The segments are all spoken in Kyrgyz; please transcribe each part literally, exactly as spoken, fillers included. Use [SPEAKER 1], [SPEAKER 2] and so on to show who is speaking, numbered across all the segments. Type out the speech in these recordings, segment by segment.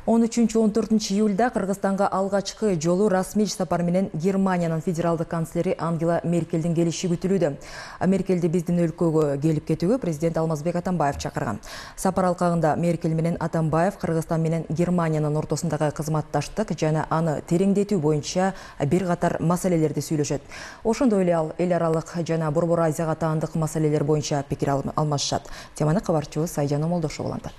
[SPEAKER 1] он үчүнчү он төртүнчү июлда Кыргызстанга алгачкы жолу расмий иш сапар менен Германиянын федералдык канцлери Ангела Меркелдин келиши күтүлүүдө. Меркелди биздин өлкөгө келип кетүүгө президент Алмазбек Атамбаев чакырган. Сапар алкагында Меркель менен Атамбаев Кыргызстан менен Германиянын ортосундагы кызматташтык жана аны тереңдетүү боюнча бир катар маселелерди сүйлөшөт. Ошондой эле ал эл аралык жана Борбор Азияга таандык маселелер боюнча пикир алмашышат. Теманы кабарчыбыз Айжан Омолдошова улантат.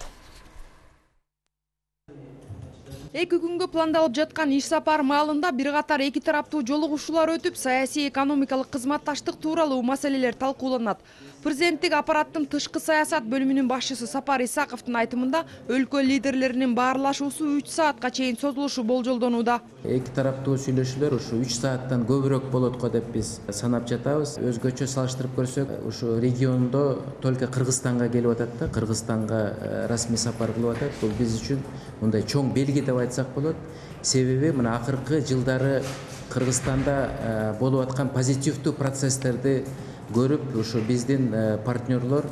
[SPEAKER 2] Эки күнгө пландалып жаткан иш сапар маалында бир катар эки тараптуу жолугушуулар өтүп, саясий экономикалык кызматташтык тууралуу маселелер талкууланат. Президенттик аппараттын тышкы саясат бөлүмүнүн башчысы Сапар Исаковдун айтымында өлкө лидерлеринин баарлашуусу үч саатка чейин созулушу болжолдонууда.
[SPEAKER 3] Эки тараптуу сүйлөшүүлөр ушу үч сааттан көбүрөөк болот го деп биз санап жатабыз. Өзгөчө салыштырып көрсөк, ушу региондо только Кыргызстанга келип атат да, Кыргызстанга расмий сапар кылып атат. Бул биз үчүн мындай чоң белги деп айтсак болот. Себеби мына акыркы жылдары Кыргызстанда болуп аткан позитивдүү процесстерди көрүп, ушу биздин партнерлор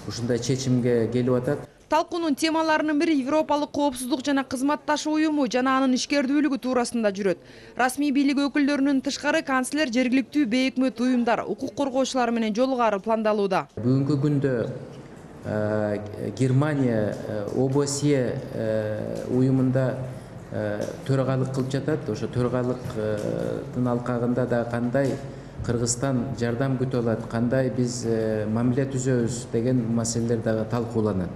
[SPEAKER 3] ушундай чечимге келип атат.
[SPEAKER 2] Талкуунун темаларынын бири Европалык коопсуздук жана кызматташуу уюму жана анын ишкердүүлүгү туурасында жүрөт. Расмий бийлик өкүлдөрүнүн тышкары канцлер жергиликтүү бейөкмөт уюмдар, укук коргоочулар менен жолугары пландалууда.
[SPEAKER 3] Бүгүнкү күндө Германия ОБСЕ уюмунда төрагалык кылып жатат. Ошо төрагалыктын алкагында да кандай Кыргызстан жардам күтө алат, кандай биз мамиле түзөбүз деген маселелер дагы талкууланат.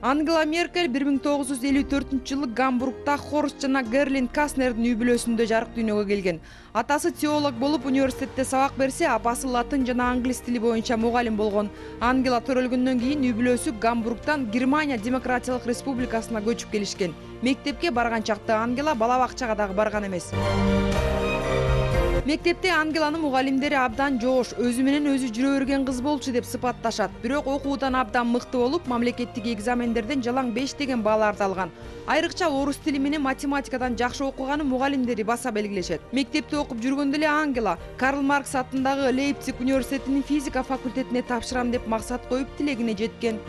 [SPEAKER 2] Ангела Меркель бир миң тогуз жүз элүү төртүнчү жылы Гамбургда Хорст жана Герлин Каснердин үй бүлөсүндө жарык дүйнөгө келген. Атасы теолог болуп университетте сабак берсе, апасы латын жана англис тили боюнча мугалим болгон. Ангела төрөлгөндөн кийин үй бүлөсү Гамбургдан Германия Демократиялык Республикасына көчүп келишкен. Мектепке барган чакта Ангела бала бакчага дагы барган эмес. Мектепте Ангеланын мугалимдери абдан жоош, өзү менен өзү жүрө берген кыз болчу деп сыпатташат. Бирок окуудан абдан мыкты болуп, мамлекеттик экзамендерден жалаң беш деген бааларды алган. Айрыкча орус тили менен математикадан жакшы окуганын мугалимдери баса белгилешет. Мектепте окуп жүргөндө эле Ангела Карл Маркс атындагы Лейпциг университетинин физика факультетине тапшырам деп максат коюп тилегине жеткен.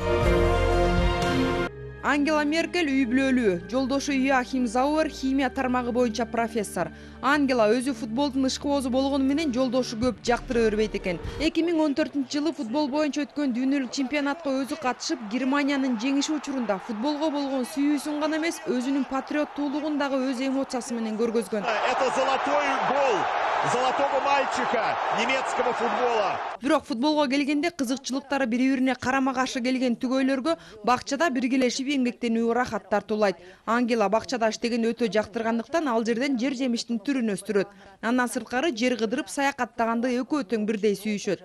[SPEAKER 2] Ангела Меркель үй бүлөлүү, жолдошу Йоахим Зауэр химия тармагы боюнча профессор. Ангела өзү футболдун ышкыбозу болгону менен жолдошу көп жактыра бербейт экен. эки миң он төртүнчү жылы футбол боюнча өткөн дүйнөлүк чемпионатка өзү катышып, Германиянын жеңиши учурунда футболго болгон сүйүүсүн гана эмес, өзүнүн патриоттуулугун дагы өз эмоциясы менен көргөзгөн.
[SPEAKER 4] Это золотой гол золотого мальчика немецкого футбола.
[SPEAKER 2] Бирок футболго келгенде кызыкчылыктары бири-бирине карама-каршы келген түгөйлөргө бакчада биргелешип эмгектенүү ырахат тартуулайт. Ангела бакчада иштеген өтө жактыргандыктан ал жерден жер жемиштин түрүн өстүрөт. Андан сырткары жер кыдырып саякаттаганды экөө тең бирдей сүйүшөт.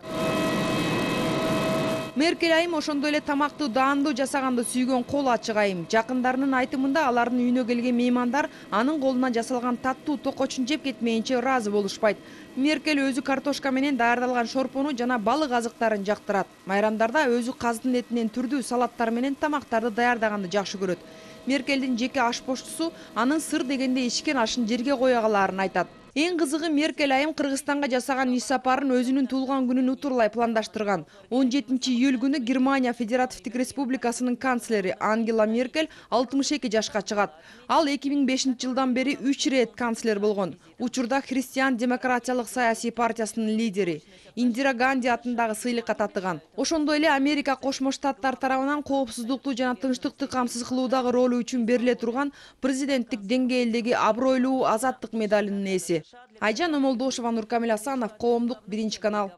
[SPEAKER 2] Меркель айым ошондой эле тамакты даандуу жасаганды сүйгөн кол ачык айым. Жакындарынын айтымында алардын үйүнө келген меймандар анын колунан жасалган таттуу токочун жеп кетмейинче ыраазы болушпайт. Меркель өзү картошка менен даярдалган шорпону жана балык азыктарын жактырат. Майрамдарда өзү каздын этинен түрдүү салаттар менен тамактарды даярдаганды жакшы көрөт. Меркелдин жеке ашпоштусу анын сыр дегенде ичкен ашын жерге кое калаарын айтат. Эң кызыгы Меркель айым Кыргызстанга жасаган иш сапарын өзүнүн туулган күнүн утурлай пландаштырган. он жетинчи июль күнү Германия Федеративдик Республикасынын канцлери Ангела Меркель алтымыш эки жашка чыгат. Ал эки миң бешинчи жылдан бери үч ирет канцлер болгон. Учурда Христиан демократиялык саясий партиясынын лидери. Индира Ганди атындагы сыйлыкка татыган. Ошондой эле Америка Кошмо Штаттар тарабынан коопсуздукту жана тынчтыкты камсыз кылуудагы ролу үчүн бериле турган президенттик деңгээлдеги абройлуу азаттык медалынын ээси. Айжан Омолдошова, Нуркамил Асанов, Коомдук, биринчи канал.